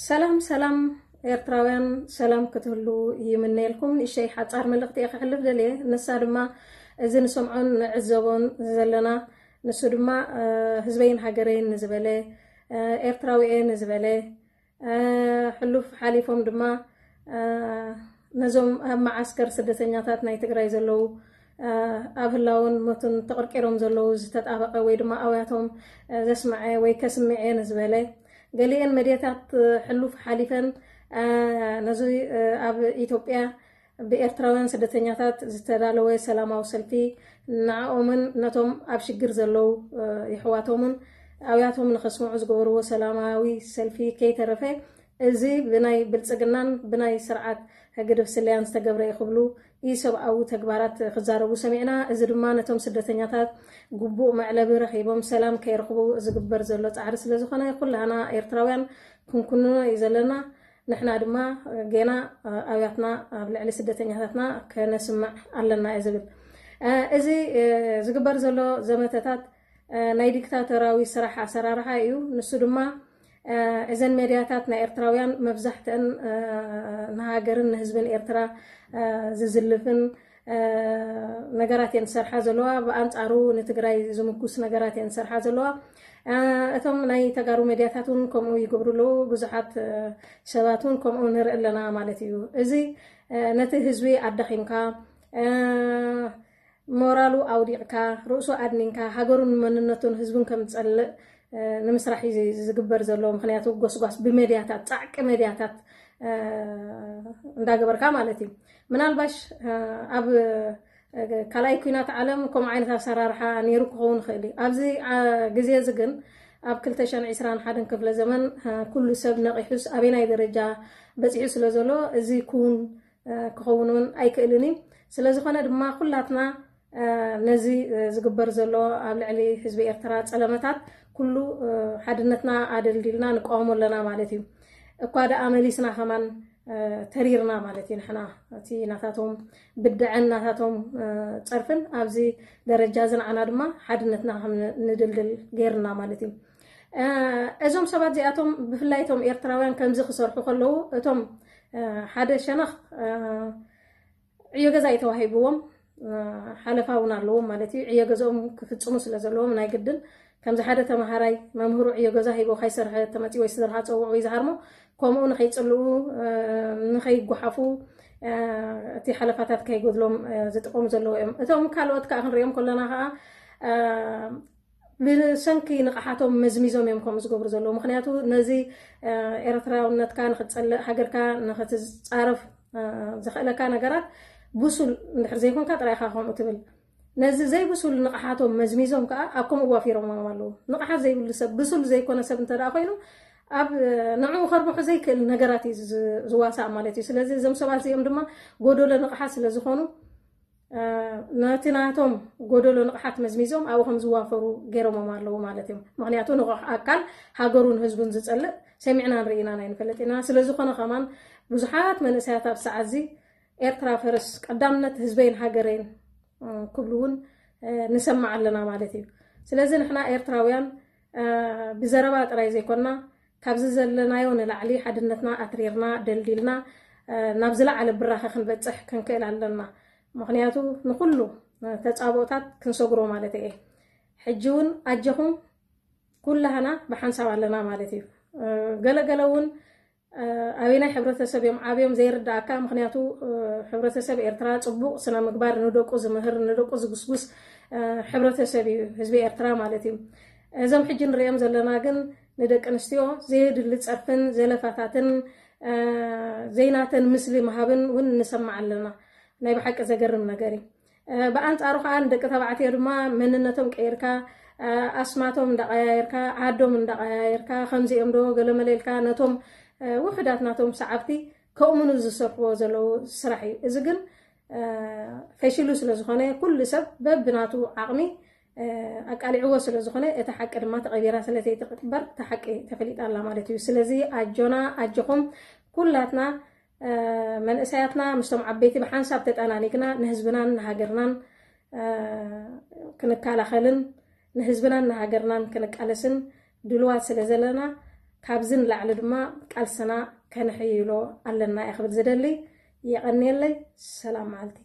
ሰላም ሰላም ኤርትራውያን፣ ሰላም ክትህሉ ይምነየልኩም። ንእሽተይ ሓጻር መልእኽቲ እየ ክሕልፍ ደልየ። ንሳ ድማ እዚ ንሰምዖን ንዕዘቦን ዘለና፣ ንሱ ድማ ህዝበይን ሃገረይን ንዝበለ፣ ኤርትራዊ እየ ንዝበለ፣ ሕሉፍ ሓሊፎም ድማ ነዞም ኣብ መዓስከር ስደተኛታት ናይ ትግራይ ዘለዉ፣ ኣብ ህላውን ሞትን ተቐርቂሮም ዘለዉ ዝተጣበቐ ወይ ድማ ኣውያቶም ዘስምዐ ወይ ከስምዐ ንዝበለ፣ ገሊኤን መድያታት ሕሉፍ ሓሊፈን ነዚ ኣብ ኢትዮጵያ ብኤርትራውያን ስደተኛታት ዝተዳለወ ሰላማዊ ሰልፊ ንዕኦምን ነቶም ኣብ ሽግር ዘለዉ የሕዋቶምን ኣውያቶም ንኸስምዑ ዝገበርዎ ሰላማዊ ሰልፊ ከይተረፈ፣ እዚ ብናይ ብልጽግናን ብናይ ስርዓት ህግድፍ ስለያን ዝተገብረ እዩ ክብሉ ኢሰብኣዊ ተግባራት ክዛረቡ ሰሚዕና። እዚ ድማ ነቶም ስደተኛታት ግቡእ መዕለቢ ረኺቦም ሰላም ከይረኽቡ ዝግበር ዘሎ ጻዕሪ ስለ ዝኾነ፣ ኩላህና ኤርትራውያን ክንኩንኖ እዩ ዘለና። ንሕና ድማ ጌና ኣብያትና ኣብ ልዕሊ ስደተኛታትና ከነስምዕ ኣለና እዩ ዝብል። እዚ ዝግበር ዘሎ ዘመተታት ናይ ዲክታቶራዊ ስራሕ ኣሰራርሓ እዩ። ንሱ ድማ እዘን ሜድያታት ናይ ኤርትራውያን መብዛሕትአን ንሃገርን ንህዝብን ኤርትራ ዝዝልፍን ነገራት እየን ዝሰርሓ ዘለዋ። ብኣንጻሩ ንትግራይ ዝምጉስ ነገራት እየን ዝሰርሓ ዘለዋ። እቶም ናይ ተጋሩ ሜድያታት እውን ከምኡ ይገብሩ ኣለዉ። ብዙሓት ሰባት እውን ከምኡ ንርኢ ኣለና ማለት እዩ። እዚ ነቲ ህዝቢ ኣዳኺምካ፣ ሞራሉ ኣውዲቕካ፣ ርእሱ ኣድኒንካ፣ ሃገሩን መንነቱን ህዝቡን ከም ዝጸልእ ንምስራሕ እዩ ዝግበር ዘሎ። ምኽንያቱ ጎስጓስ ብመድያታት፣ ጻዕቂ መድያታት እንዳገበርካ ማለት እዩ። ምናልባሽ ኣብ ካልኣይ ኩናት ዓለም ከምኡ ዓይነት ኣሰራርሓ ነይሩ ክኸውን ይኽእል እዩ። ኣብዚ ግዜ እዚ ግን ኣብ ክልተ ሽሕን ዕስራን ሓደን ክፍለ ዘመን ኩሉ ሰብ ነቒሑስ ኣበናይ ደረጃ በጺሑ ስለ ዘሎ እዚ ክውን ክኸውን እውን ኣይክእልን እዩ። ስለ ዝኾነ ድማ ኩላትና ነዚ ዝግበር ዘሎ ኣብ ልዕሊ ህዝቢ ኤርትራ ጸለመታት ኩሉ ሓድነትና ኣደልዲልና ንቃወሞ ኣለና ማለት እዩ። እኳ ደኣ መሊስና ከማን ተሪርና ማለት እዩ። ንሕና እቲ ናታቶም ብድዐን ናታቶም ጸርፍን ኣብዚ ደረጃ እዚ ንዓና ድማ ሓድነትና ከም ንድልድል ገይርና ማለት እዩ። እዞም ሰባት እዚኣቶም ብፍላይ እቶም ኤርትራውያን ከምዚ ክሰርሑ ከለዉ እቶም ሓደ ሸነኽ ዕዮ ገዛ እዩ ተዋሂብዎም፣ ሓለፋ እውን ኣለዎም ማለት እዩ። ዕዮ ገዛኦም ክፍጽሙ ስለ ዘለዎም ናይ ግድን ከምዚ ሓደ ተምሃራይ መምህሩ ዕዮ ገዛ ሂቦ ከይሰርሐ ተመጺኡ ወይ ስድራኻ ጸውዑ ወይ ዝሃርሞ ከምኡ ንኸይጽልኡ ንኸይጓሓፉ እቲ ሓለፋታት ከይጎድሎም ዝጥቀሙ ዘለዉ እዮም። እቶም ካልኦት ከዓ ክንሪኦም ከለና ከዓ ብሰንኪ ንቕሓቶም መዝሚዞም እዮም ከምኡ ዝገብሩ ዘለዉ። ምኽንያቱ ነዚ ኤርትራውነትካ ንክትጸልእ ሃገርካ ንክትጻረፍ ዘኽእለካ ነገራት ብሱል እንድሕር ዘይኮንካ ጥራይ ኢኻ ከምኡ ትብል። ነዚ ዘይብሱል ንቕሓቶም መዝሚዞም ከዓ ኣብ ከምኡ ዋፊሮም ኣለዉ። ንቕሓት ዘይብሉ ሰብ ብሱል ዘይኮነ ሰብ እንተ ደኣ ኮይኑ ኣብ ንዕኡ ከርብሑ ዘይክእል ነገራት እዩ ዝዋሳእ ማለት እዩ። ስለዚ እዞም ሰባት እዚኦም ድማ ጎደሎ ንቕሓት ስለ ዝኾኑ ነቲ ናቶም ጎደሎ ንቕሓት መዝሚዞም ኣብኡ ከም ዝዋፈሩ ገይሮሞም ኣለዉ ማለት እዮም። ምኽንያቱ ንቑሕ ኣካል ሃገሩን ህዝቡን ዝጸልእ ሰሚዕናን ርኢናን ኣይንፈልጥ ኢና። ስለ ዝኾነ ከማን ብዙሓት መንእሰያት ኣብ ሰዓት እዚ ኤርትራ ፈርስ ቀዳምነት ህዝበይን ሃገረይን ክብሉ እውን ንሰማዕ ኣለና ማለት እዩ። ስለዚ ንሕና ኤርትራውያን ብዘረባ ጥራይ ዘይኮንና ካብዚ ዘለናዮ ንላዕሊ ሓድነትና ኣትሪርና ደልዲልና ናብ ዝለዓለ ብራኸ ክንበጽሕ ክንክእል ኣለና። ምኽንያቱ ንኹሉ ተጻብኦታት ክንሰግሮ ማለት እየ። ሕጂ እውን ኣጀኹም ኩላህና ብሓንሳብ ኣለና ማለት እዩ። ገለገለ እውን ኣበናይ ሕብረተሰብ እዮም ዓብዮም ዘይርዳእካ። ምኽንያቱ ሕብረተሰብ ኤርትራ ጽቡቕ ስነ ምግባር ንደቁ ዝምህር ንደቁ ዝጉስጉስ ሕብረተሰብ እዩ ህዝቢ ኤርትራ ማለት እዩ። እዞም ሕጂ ንሪኦም ዘለና ግን ንደቂ ኣንስትዮ ዘየድሊ ጸርፍን ዘለፋታትን ዘይናተን ምስሊ ምሃብን እውን ንሰማዕ ኣለና። ናይ ብሓቂ ዘገርም ነገር እዩ። ብኣንጻሩ ከዓ ንደቂ ተባዕትዮ ድማ መንነቶም ቀይርካ ኣስማቶም እንዳቀያየርካ ዓዶም እንዳቀያየርካ ከምዚኦም ዶ ገለመለ ኢልካ ነቶም ውሑዳት ናቶም ሰዓብቲ ከእምኑ ዝሰርሕዎ ዘለዉ ስራሕ እዩ። እዚ ግን ፈሽሉ ስለ ዝኾነ ኩሉ ሰብ በብናቱ ዓቕሚ ኣቃሊዕዎ ስለ ዝኾነ እቲ ሓቂ ድማ ተቐቢራ ስለ ዘይትቅበር እቲ ሓቂ ተፈሊጣ ኣላ ማለት እዩ። ስለዚ ኣጆና ኣጆኹም ኩላትና መንእሰያትና ምስቶም ዓበይቲ ብሓንሳብ ተጠናኒግና ንህዝብናን ንሃገርናን ክንከላኸልን ንህዝብናን ንሃገርናን ክንቃለስን ድልዋት ስለ ዘለና ካብዚ ንላዕሊ ድማ ቃልስና ከነሕይሎ ኣለና እየ ክብል ዝደሊ። የቐንየለይ። ሰላም መዓልቲ።